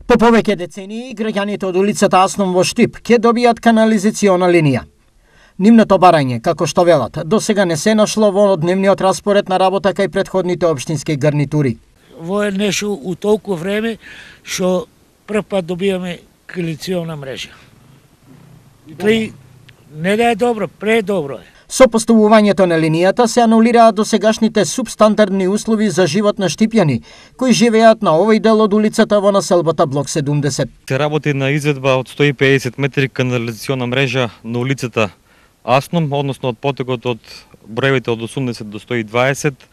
По повеќе децении, граѓаните од улицата Асном во Штип ќе добијат канализациона линија. Нивното барање, како што велат, до сега не се нашло во дневниот распоред на работа кај претходните општински гарнитури. Во е нешто у толку време што прв пат добиваме канализациона мрежа. Тој не да е добро, предобро е. Со поставувањето на линијата се анулираат досегашните субстандардни услови за живот на штипјани кои живеат на овој дел од улицата во населбата блок 70. Се работи на изведба од 150 метри канализациона мрежа на улицата Асном, односно од потегот од броевите од 80 до 120.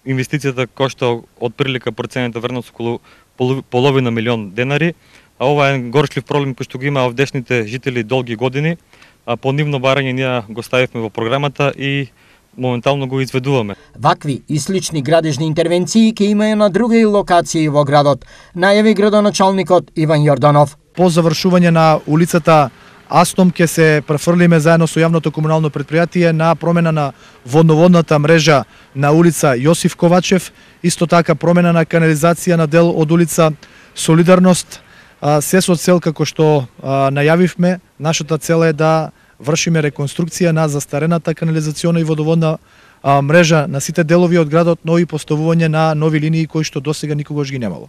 Инвестицијата кошта од прилика проценета вредност околу половина милион денари, а ова е горчлив проблем кој што го има овдешните жители долги години. По нивно барање ние го ставивме во програмата и моментално го изведуваме. Вакви и слични градежни интервенции ќе имаја на други локации во градот, најави градоначалникот Иван Јорданов. По завршување на улицата Асном ќе се префрлиме заедно со јавното комунално предпријатие на промена на водноводната мрежа на улица Јосиф Ковачев, исто така промена на канализација на дел од улица Солидарност, се со цел како што најавивме, нашата цел е да вршиме реконструкција на застарената канализациона и водоводна мрежа на сите делови од градот, но и поставување на нови линии кои што досега никогаш ги немало.